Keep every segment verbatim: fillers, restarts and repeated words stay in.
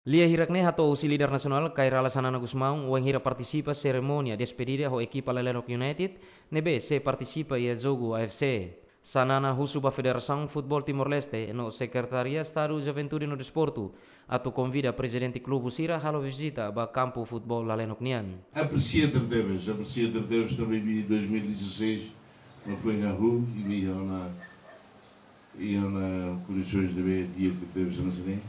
Lia hirak ne'e hato'o husi líder nasionál Kay Rala Xanana Gusmão wainhira partisipa serimónia despedida ho ekipa Lalenok United ne'ebé sei partisipa iha jogu A F C. Xanana husu ba Federasaun Futeból Timor-Leste no Sekretaria Estadu Juventude no Desportu atu konvida prezidente klube sira halo vizita ba kampu futeból Lalenok nian. Apresia tebetebes, apresia tebetebes tanba dois mil e dezasseis, no foi na rua e me na e na condições de ver dia que tebes na sini.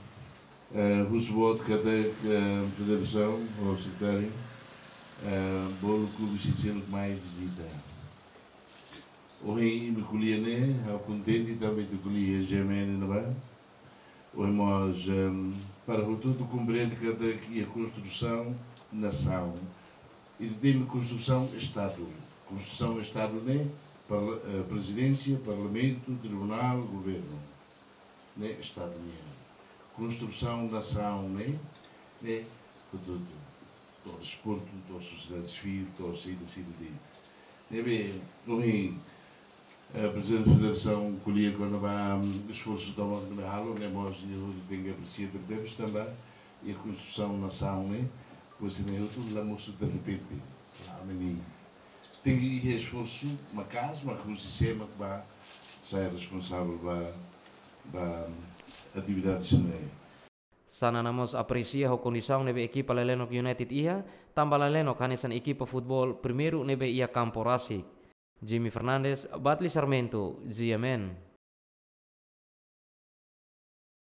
Eh, husu boot katak, eh, federasaun, ou sekretáriu, eh, bolu klube sira seluk mai vizita. Ohin imi ko'alia ne'e, ha'u kontente tanba ita ko'alia G M N ne'ebá. Ohin mós, ehm, para hotu-hotu komprende katak iha konstrusaun nasaun. Ita temi konstrusaun Estadu. Konstrusaun Estadu ne'e parla-, eh, prezidénsia, parlamentu, tribunál, governu. Ne'e Estadu nian. Konstrusaun nasaun ne'e, ne'e hotu-hotu. To'o desportu, to'o sosiedade sivíl, to'o saida, saida de'it. Ne'ebé, ohin, eh, prezidente federasaun ko'alia kona-ba, mm, esforsu tomak ne'ebé halo, ne'e mós nia tenke apresia tebetebes tanba iha konstrusaun nasaun ne'e, pois ne'e hotu la mosu derrepente, la amanhã. Tenke iha esforsu maka'as, mak husi sé mak bá sai responsavel ba, ba, mm, atividades ne'e. Xanana mós apresia ho kondisaun ne'ebé ekipa Lalenok United iha, tanba Lalenok hanesan ekipa futeból primeiru ne'ebé iha kampu rasik. Jimmy Fernandes, Batli Sarmento, G M N.